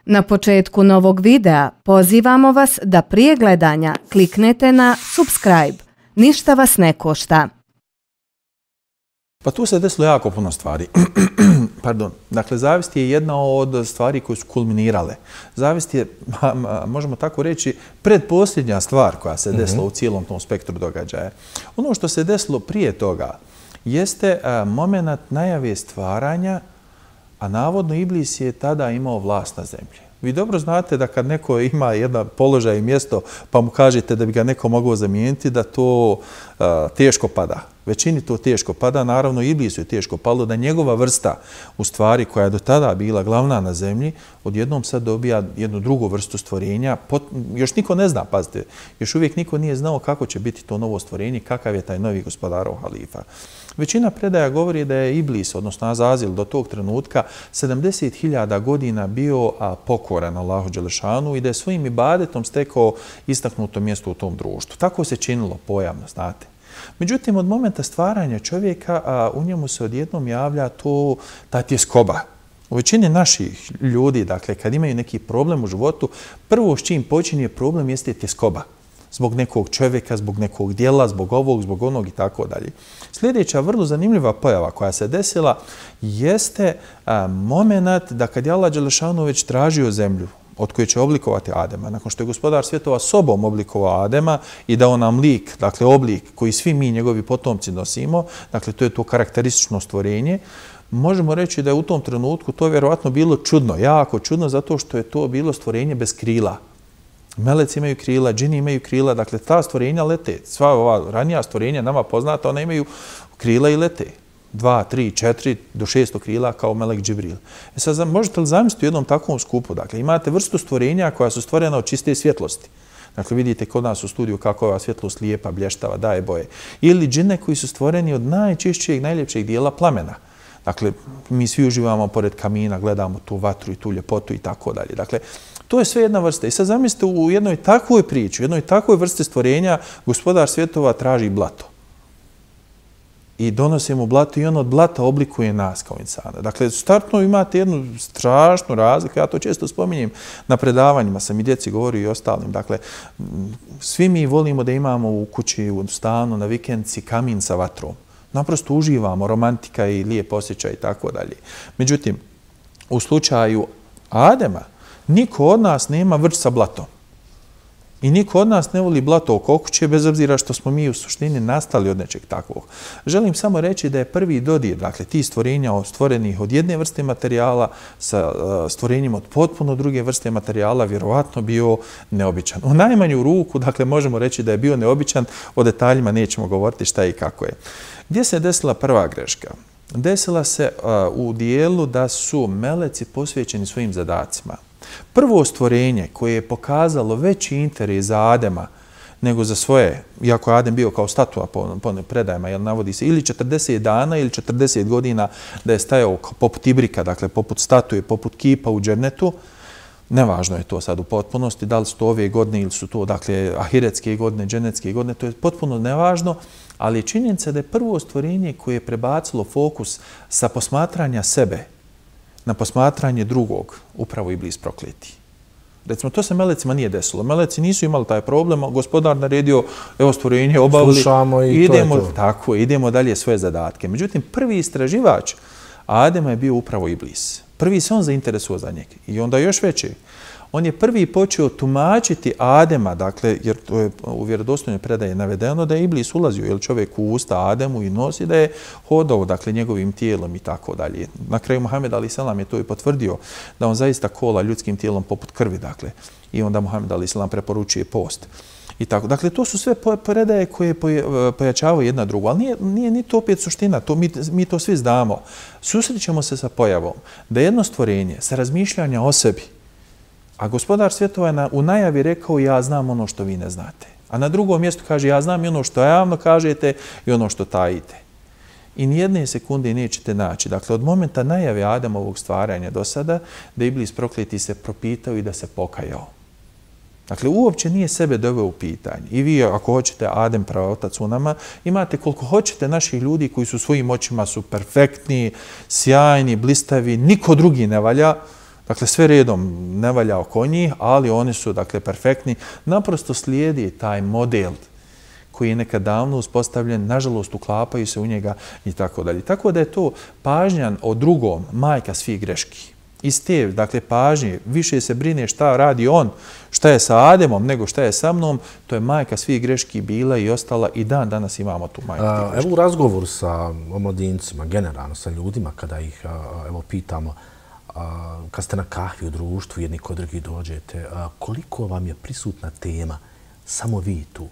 Na početku novog videa pozivamo vas da prije gledanja kliknete na subscribe. Ništa vas ne košta. Pa tu se desilo jako puno stvari. Pardon. Dakle, zavist je jedna od stvari koje su kulminirale. Zavist je, možemo tako reći, predposljednja stvar koja se desila u cijelom tom spektru događaja. Ono što se desilo prije toga jeste moment najave stvaranja, a navodno Iblis je tada imao vlast na zemlji. Vi dobro znate da kad neko ima jedan položaj i mjesto pa mu kažete da bi ga neko mogao zamijeniti, da to teško pada. Većini to teško pada, naravno Iblisu je teško palo da njegova vrsta, u stvari koja je do tada bila glavna na zemlji, odjednom sad dobija jednu drugu vrstu stvorenja. Još niko ne zna, pazite, još uvijek niko nije znao kako će biti to novo stvorenje, kakav je taj novi gospodarov halifa. Većina predaja govori da je Iblis, odnosno Azazil, do tog trenutka 70.000 godina bio pokoran Allahu Đelešanu i da je svojim ibadetom stekao istaknuto mjesto u tom društvu. Tako se činilo pojavno, znate. Međutim, od momenta stvaranja čovjeka u njemu se odjednom javlja ta tjeskoba. U većini naših ljudi, dakle, kad imaju neki problem u životu, prvo s čim počinje problem jeste tjeskoba. Zbog nekog čovjeka, zbog nekog dijela, zbog ovog, zbog onog i tako dalje. Sljedeća vrlo zanimljiva pojava koja se desila jeste moment da kad je Allah Đelešanu već tražio zemlju od koje će oblikovati Adema, nakon što je gospodar svjetova sobom oblikovao Adema i dao nam lik, dakle oblik koji svi mi, njegovi potomci, nosimo, dakle to je to karakteristično stvorenje, možemo reći da je u tom trenutku to vjerovatno bilo čudno, jako čudno, zato što je to bilo stvorenje bez krila. Meleci imaju krila, džini imaju krila, dakle ta stvorenja lete. Sva ova ranija stvorenja nama poznata, ona imaju krila i lete. 2, 3, 4 do 600 krila kao melek Džibril. Sad možete li zamisliti u jednom takvom skupu? Dakle, imate vrstu stvorenja koja su stvorena od čiste svjetlosti. Dakle, vidite kod nas u studiju kako je ova svjetlost lijepa, blještava, daje boje. Ili džine koji su stvoreni od najčišćijeg, najljepšeg dijela plamena. Dakle, mi svi uživamo pored kamina, gledamo tu vatru i tu ljepotu i tako dalje. Dakle, to je sve jedna vrsta. I sad zamislite u jednoj takvoj priči, u jednoj takvoj vrsti stvorenja, gospodar svjetova traži blato. I donosi mu blato i on od blata oblikuje nas kao insana. Dakle, startno imate jednu strašnu razliku, ja to često spominjem na predavanjima, sam i djeci govorio i ostalim. Dakle, svi mi volimo da imamo u kući, u stanu, na vikendci kamin sa vatrom. Naprosto uživamo, romantika i lijep osjećaj i tako dalje. Međutim, u slučaju Adema, niko od nas nema vrč sa blatom. I niko od nas ne voli blato oko kuće, bez obzira što smo mi u suštini nastali od nečeg takvog. Želim samo reći da je prvi dodir, dakle, ti stvorenja stvorenih od jedne vrste materijala sa stvorenjima od potpuno druge vrste materijala vjerovatno bio neobičan. U najmanju ruku, dakle, možemo reći da je bio neobičan, o detaljima nećemo govoriti šta i kako je. Gdje se desila prva greška? Desila se u dijelu da su meleci posvećeni svojim zadacima. Prvo stvorenje koje je pokazalo veći interes za Adema nego za svoje, iako je Adem bio kao statua po predajama, jer navodi se ili 40 dana ili 40 godina da je stajao poput ibrika, dakle poput statue, poput kipa u džennetu, nevažno je to sad u potpunosti, da li su to ove godine ili su to, dakle, ahiretske godine, džennetske godine, to je potpuno nevažno, ali je činjenica da je prvo stvorenje koje je prebacilo fokus sa posmatranja sebe na posmatranje drugog, upravo Iblis prokleti. Recimo, to se melecima nije desilo. Meleci nisu imali taj problem, gospodar naredio, evo stvorenje obavili. Slušamo i idemo, to je to. Tako, idemo dalje svoje zadatke. Međutim, prvi istraživač Adema je bio upravo Iblis. Prvi se on zainteresuo za njega. I onda još veće. On je prvi počeo tumačiti Adema, dakle, jer to je u vjerodostojnoj predaji navedeno da je Iblis ulazio, jer čovjek u usta Ademu i nosi da je hodao, dakle, njegovim tijelom i tako dalje. Na kraju Muhammed a.s. je to i potvrdio, da on zaista kola ljudskim tijelom poput krvi, dakle, i onda Muhammed a.s. preporučuje post. I tako. Dakle, to su sve predaje koje pojačavaju jedna drugu, ali nije ni to opet suština, mi to svi znamo. Susrećemo se sa pojavom da jedno stvorenje sa razmišljanja o sebi, a gospodar svjetova je u najavi rekao ja znam ono što vi ne znate. A na drugom mjestu kaže ja znam i ono što javno kažete i ono što tajite. I nijedne sekunde nećete naći. Dakle, od momenta najave Adamovog stvaranja do sada, da Iblis prokleti se propitao i da se pokajao. Dakle, uopće nije sebe doveo u pitanje. I vi, ako hoćete, Adem, praotac u nama, imate koliko hoćete naših ljudi koji su svojim očima su perfektni, sjajni, blistavi, niko drugi ne valja. Dakle, sve redom ne valja oko njih, ali oni su, dakle, perfektni. Naprosto slijedi taj model koji je nekad davno uspostavljen, nažalost uklapaju se u njega i tako dalje. Tako da je to pažnja o drugom, majka svih greški. Iz te, dakle, pažnje, više se brine šta radi on, šta je sa Ademom, nego šta je sa mnom, to je majka svih greški bila i ostala i danas imamo tu majku tih greški. Evo u razgovoru sa omladincima, generalno sa ljudima, kada ih pitamo, kad ste na kahvi u društvu, jedni kod drugih dođete, koliko vam je prisutna tema, samo vi tu?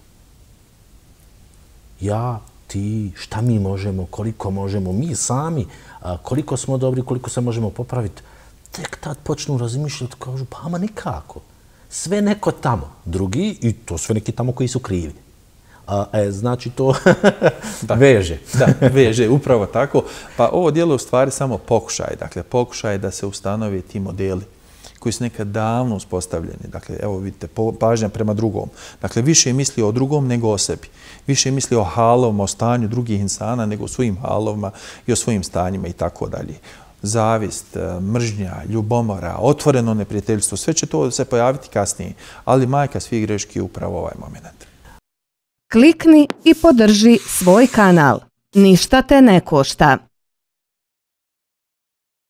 Ja, ti, šta mi možemo, koliko možemo, mi sami, koliko smo dobri, koliko se možemo popraviti. Tek tad počnu razmišljati, kažu, pa ama nikako. Sve neko tamo, drugi, i to sve neki tamo koji su krivi. Znači to veže. Da, veže, upravo tako. Pa ovo djelo je u stvari samo pokušaj. Dakle, pokušaj da se ustanovi ti modeli koji su nekad davno uspostavljeni. Dakle, evo vidite, pažnja prema drugom. Dakle, više misli o drugom nego o sebi. Više misli o halovima, o stanju drugih insana nego o svojim halovima i o svojim stanjima i tako dalje. Zavist, mržnja, ljubomora, otvoreno neprijateljstvo, sve će to se pojaviti kasnije. Ali majka svih greški je upravo ovaj moment. Klikni i podrži svoj kanal. Ništa te ne košta.